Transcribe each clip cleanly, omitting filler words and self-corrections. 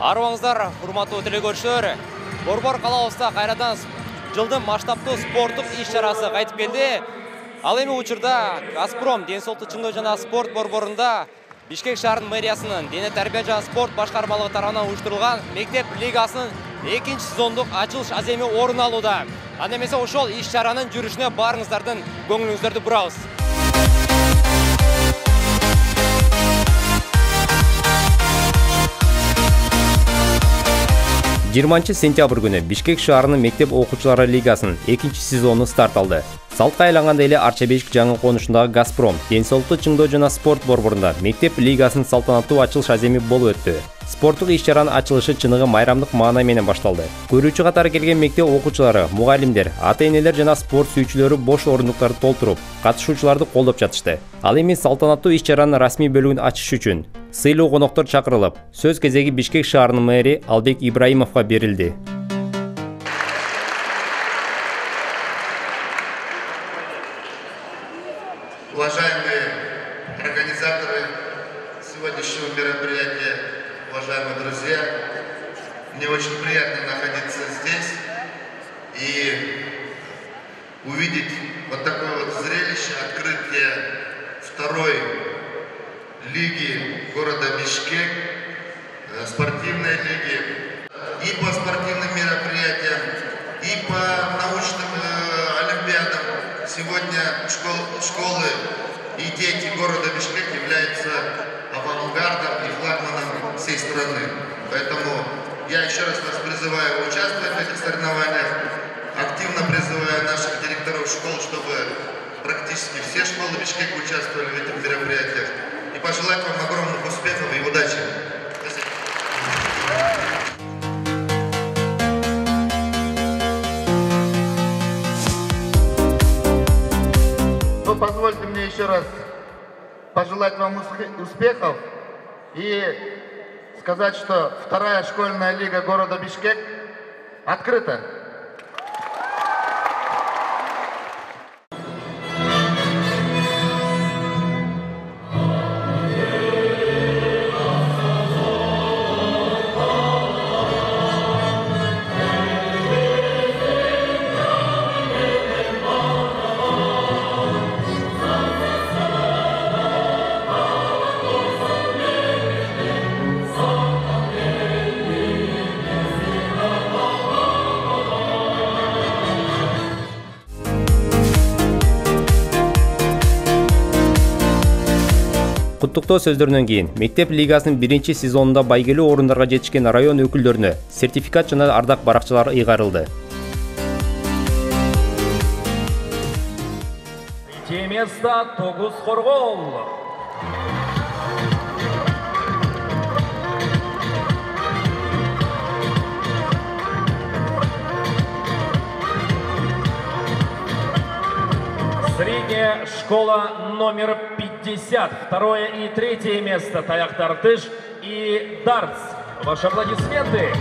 Арыбаңыздар, урматтуу телекөрүүчүлөр. Борбор калабызда кайрадан жылдын масштабтуу спорттук иш-чарасы кайтып келди. Ал эми учурда Газпром ден соолукту чыңдоо жана спорт борборунда Бишкек шаарынын мэриясынын дене тарбия жана спорт башкармалыгы тарабынан уюштурулган мектеп лигасынын 2-сезондук ачылыш аземи орун алууда. Анда эмесе ошол иш-чаранын жүрүшүнө баарыңыздардын көңүлүңүздөрдү бурабыз. 20 сентябрь күнү Бишкек шаарынын мектеп окуучулары лигасынын 2-сезону старт алды. Салтка айланганда эле Арча-Бешик жаңы конушундагы Газпром ден соолукту чыңдоо жана спорт борборунда мектеп лигасынын салтанаттуу ачылыш аземи болуп өттү. Спорттук иш-чаранын ачылышы чыныгы майрамдык маана менен башталды. Көрүүчү катары келген мектеп окуучулары, мугалимдер, ата-энелер жана спорт сүйүүчүлөрү бош орундуктарды толтуруп, катышуучуларды колдоп жатышты. Ал эми салтанаттуу иш-чаранын расмий бөлүгүн ачыш үчүн сыйлуу коноктор чакырылып, сөз кезеги Бишкек шаарынын мэри Албек Ибраимовго берилди. Уважаемые организаторы сегодняшнего мероприятия, уважаемые друзья, мне очень приятно находиться здесь и увидеть вот такое вот зрелище, открытие второй лиги города Бишкек, спортивной лиги, и по спортивным мероприятиям, и по научным олимпиадам. Сегодня школы и дети города Бишкек являются авангардом и флагманом всей страны. Поэтому я еще раз вас призываю участвовать в этих соревнованиях, активно призываю наших директоров школ, чтобы практически все школы Бишкека участвовали в этих мероприятиях. И пожелать вам огромных успехов и удачи. Спасибо. Ну, позвольте мне еще раз пожелать вам успехов и сказать, что вторая школьная лига города Бишкек открыта. Куттуктоо сөздөрүнөн кийин мектеп лигасынын 1-сезонунда байгелүү орундарга жетишкен район өкүлдөрүнө сертификат жана ардак баракчалар ыйгарылды. Третье место Тогуз Хоргол. Средняя школа номер 50. Второе и третье место Таяк Тартыш и Дартс. Ваши аплодисменты.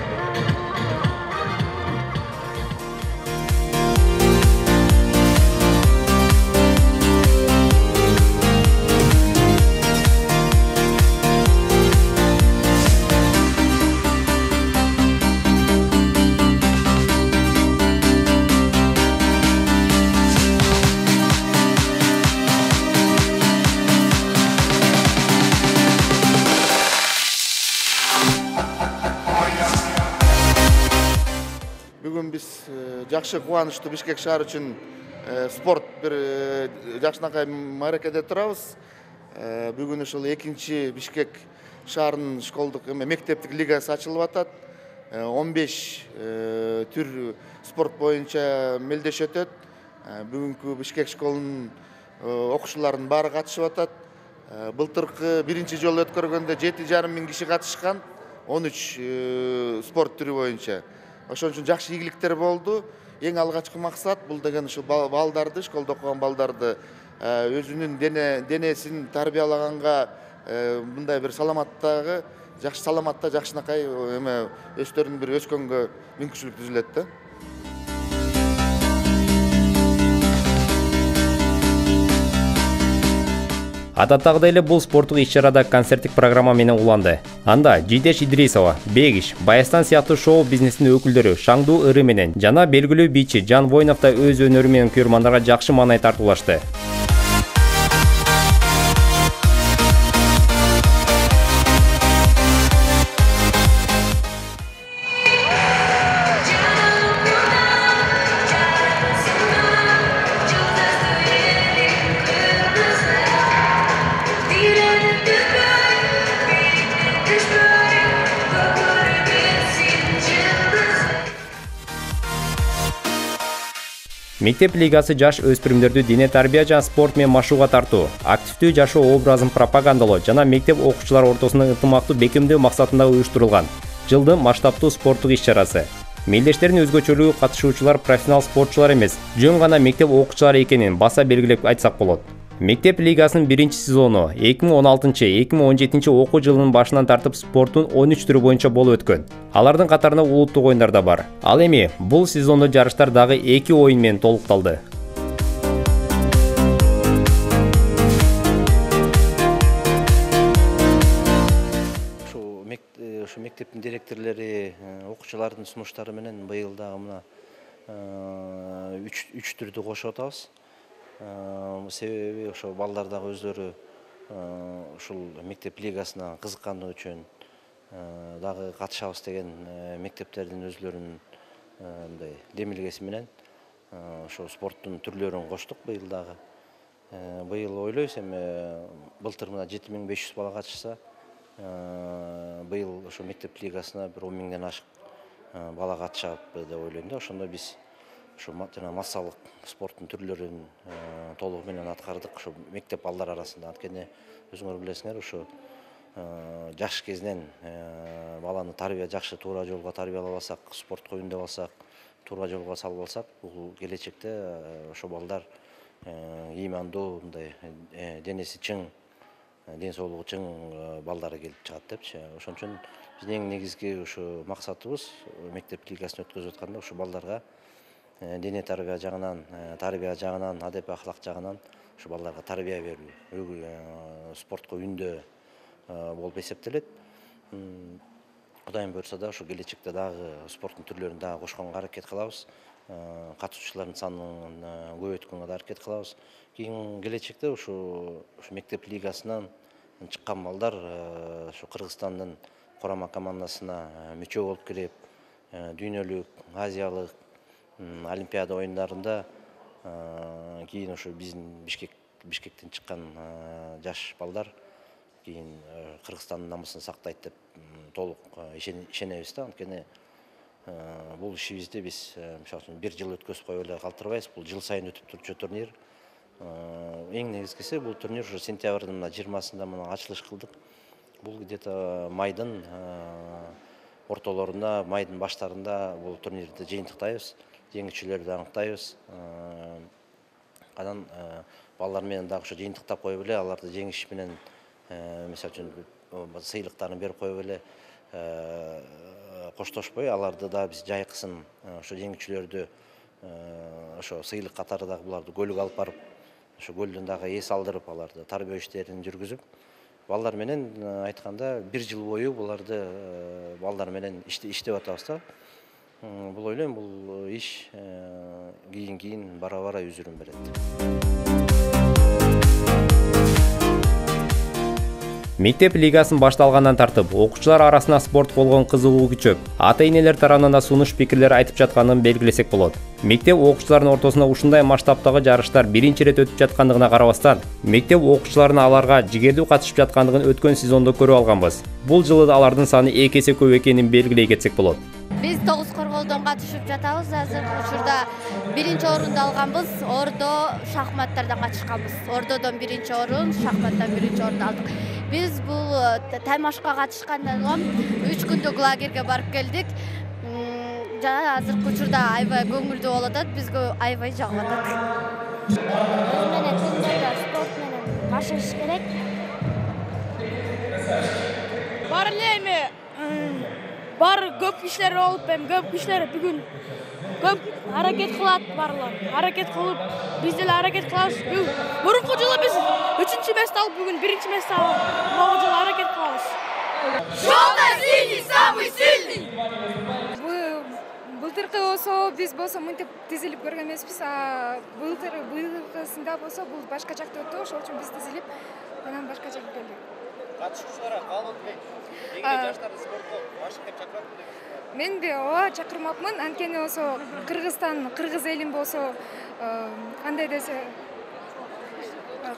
Бүгүн биз жакшы кубанычтуу Бишкек шаары үчүн спорт бир жакшынакай мааракеде турабыз. Бүгүн ушул 2 Бишкек шаарынын школдук мектептик лигасы ачылып атат. 15 түр спорт боюнча мелдеш өтөт. Бүгүнкү Бишкек школунун окуучуларынын баары катышып атат. Былтыркы 1-жолу өткөргөндө 7,5 миң киши катышкан, 13 спорт түрү боюнча. Ошон үчүн жакшы ийгиликтер болду. Эң алгачкы максат бул деген ушу балдарды, школдо окуган балдарды өзүнүн денесин тарбиялаганга, мындай бир саламаттагы, жакшы саламатта, жакшынакай өздөрүнүн бир өскөнгө мүмкүнчүлүк түзүлөт да. Адаттагыдай эле бул спорттук иш-чарада концерттик программа менен уланды. Анда Жидеш Идрисова, Бегиш, Баястан сыяктуу шоу бизнесинин өкүлдөрү Шаңду Ыры менен жана белгилүү бийчи Жан Воинов да өз өнөрү менен көрөрмандарга жакшы маанай тартуулашты. Мектеп лигасы жаш өспүрүмдөрдү дене тарбия жана спорт менен машыгууга тартуу, активдүү жашоо образын пропагандалоо жана мектеп окуучулары ортосунда ынтымактуу бекемдөө максатында уюштурулган жылдын масштабтуу спорттук иш-чарасы. Мелдештердин өзгөчөлүгү катышуучулар профессионал спортчулар эмес, жөн гана мектеп окуучулары экенин баса белгилеп айтсак болот. Мектеп лигасынын биринчи сезону 2016-2017 окуу жылынын башынан тартып спорттун 13 түрү боюнча болуп өткөн. Алардын катарында улуттук оюндар да бар. Ал эми бул сезондо жарыштар дагы 2 оюн менен толукталды. Ушу мектептин директорлори, окуучулардын сунуштары менен быйыл дагы мына 3 түрдү кошуп атабыз. Себеби ошо балдар дагы өздөрү ушул мектеп лигасына кызыкканы үчүн дагы катышабыз деген мектептердин өзлөрүнүн мындай демилгеси менен ошо спорттун түрлөрүн коштук быйыл дагы. Быйыл ойлойбуз эми былтыр мына 7500 бала катышса, быйыл ошо мектеп лигасына бир 10 миңден ашык бала катышат деп ойлойм да. Ошондо биз ошо жана массалык спорттун түрлөрүн толугу менен аткардык ошо мектеп балдар арасында. Анткени өзүңөр билесиңер, ошо жаш кезинен баланы жакшы туура жолго тарбиялап алсак, спортко үндөп алсак, туура жолго салып алсак, бул келечекте ошо балдар ыймандуу, мындай денеси чың, ден соолугу чың балдары келип чыгат депчи. Ошон үчүн биздин эң негизги ошо максатыбыз мектеп лигасын өткөзүп атканда ошо балдарга дене тарбия жагынан, адеп ахлак жагынан ошо балдарга тарбия берүү, спортко үндөө болуп эсептелет. Кудайым буйрса да ошо келечекте дагы спорттун түрлөрүн дагы кошконго аракет кылабыз. Катышуучулардын санын көбөйткөнгө да аракет кылабыз. Кийин келечекте ошо мектеп лигасынан чыккан балдар ошо Кыргызстандын курама командасына мүчө болуп кирип, дүйнөлүк, азиялык Олимпиада оюндарында кийин ошо биздин Бишкектен чыккан жаш балдар кийин Кыргызстандын намысын сактайт деп толук ишенебиз да. Анткени бул ишибизди биз мисалы үчүн бир жыл өткөзүп коюп эле калтырбайбыз. Бул жыл сайын өтүп турчу турнир. Эң негизгиси бул турнир ушу сентябрдын 20-сында мына ачылыш кылдык. Бул где-то майдын ортолорунда, майдын баштарында бул турнирди жыйынтыктайбыз. Жеңүүчүлөрдү аныктайбыз. Анан балдар менен дагы ошо жыйынтыктап коюп эле, аларды жеңиш менен мисалы үчүн сыйлыктарын берип коюп эле коштошпой, аларды да биз жайкысын ошо жеңүүчүлөрдү ошо сыйлык катары дагы буларды көлүк алып барып, ошо көлдөн дагы эс алдырып, аларды тарбия иштерин жүргүзүп, балдар менен айтканда бир жыл бою буларды балдар менен иштеп атабыз да. Бул ойлойм, бул иш кийин бара-бара үзүрүн берет. Мектеп лигасын башталгандан тартып, окуучулар арасында спорт болгон кызыгуу күчөп, ата-энелер тарабынан да сунуш пикирлер айтып жатканын белгилесек болот. Мектеп окуучуларынын ортосунда ушундай масштабтагы жарыштар биринчи ирет өтүп жаткандыгына карабастан, мектеп окуучуларынын аларга жигердүү катышып жаткандыгын өткөн сезондо көрүп алганбыз. Бул жылы алардын саны 2 эсе көп экенин белгилей кетсек болот. Биз 9 корголдон катышып жатабыз. Азыр учурда биринчи орунду алганбыз. Ордо шахматтардан катышканбыз. Ордодон биринчи орун, шахматтан биринчи орунду алдык. Биз бул таймашка катышкандан соң 3 күндүк лагерге барып келдик. Жана азыркы учурда аябай көңүлдүү болуп атат. Бизге аябай жагып атат. Өз менен күндө спорт менен машыгыш керек. Бар эле эми баары көп иштер болуп, эми көп иштер бүгүн көп аракет кылат барлар. Аракет кылып, биз деле аракет кылабыз. Мурунку жылы биз 3-чү месте алып, бүгүн 1-чи месте алып, могу жылы аракет кылабыз. Желто-синий самый сильный. Былтыркы болсо биз болсо мынтип тизилип көргөн эмеспиз, а былтыркысында болсо бул башка жакта өттү, ошол үчүн биз тизилип анан башка жакка келдик. Катышуучуларга каалоо тилейт. Кийинки жаштарды спортко ашык деп чакырат деп. Мен ооба чакырмакмын, анткени болсо Кыргызстан, кыргыз элин болсо кандай десе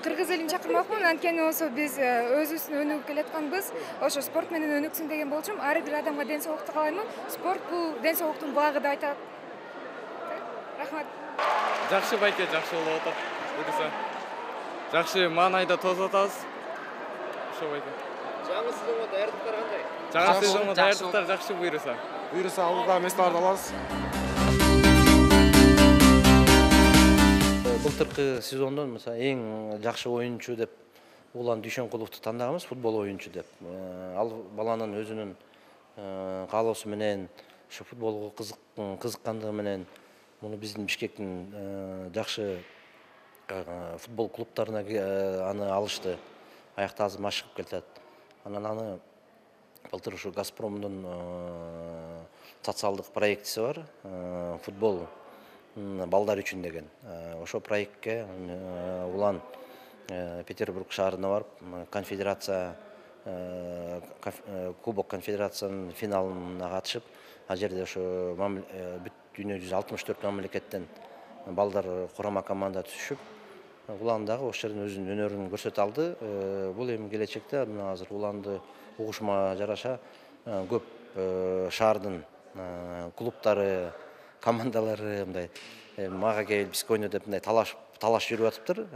кыргыз элин чакырмакмын, анткени болсо биз өзүбүздүн өнүгүп келатканбыз. Ошо спорт менен өнүксүн деген болчумун. Ар бир адамга ден соолукту каалаймын. Спорт бул ден соолуктун багы деп айтат. Рахмат. Жакшы байке, жакшы болуп атат. Буюрса. Жакшы маанайда тосуп атабыз. Ошо байке. Жаңы сезонго даярдыктар кандай? Жаңы сезонго даярдыктар жакшы буюрса. Буюрса алдыда месталарды алабыз. Былтыркы сезондон мисалы эң жакшы оюнчу деп Улан Дүйшөнкуловду тандаганбыз, футбол оюнчу деп. Ал баланын өзүнүн каалоосу менен, ошо футболго кызыккандыгы менен муну биздин Бишкектин жакшы футбол клубтарына аны алышты. Аякта азыр машыгып келатат. Анан аны былтыр ушу Газпромдун социалдык проектиси бар, футбол балдар үчүн деген. Ошо проектке Улан Петербург шаарына барып, конфедерация Кубок конфедерациянын финалына катышып, ал жерде ошо бүт дүйнө жүзү 64 мамлекеттен балдар курама команда түшүп, Улан дагы ошол жерден өзүнүн өнөрүн көрсөтө алды. Бул эми келечекте мына азыр Уланды угушма жараша көп шаардын клубтары, командалары мындай мага кел бизге ойно деп мындай талаш жүрүп атыптыр.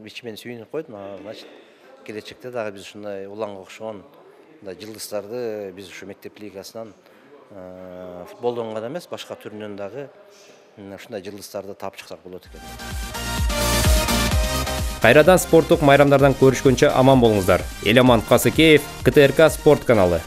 Ичи мен сүйүнүп койдум. Значит, келечекте дагы биз ушундай Уланга окшогон мындай жылдыздарды биз ушу мектеп лигасынан футболдон гана эмес, башка түрүнөн дагы ушундай жылдыздарды таап чыксак болот экен. Кайрадан спорттук майрамдардан көрүшкөнчө аман болуңуздар. Эламан Касыкеев, КТРК спорт каналы.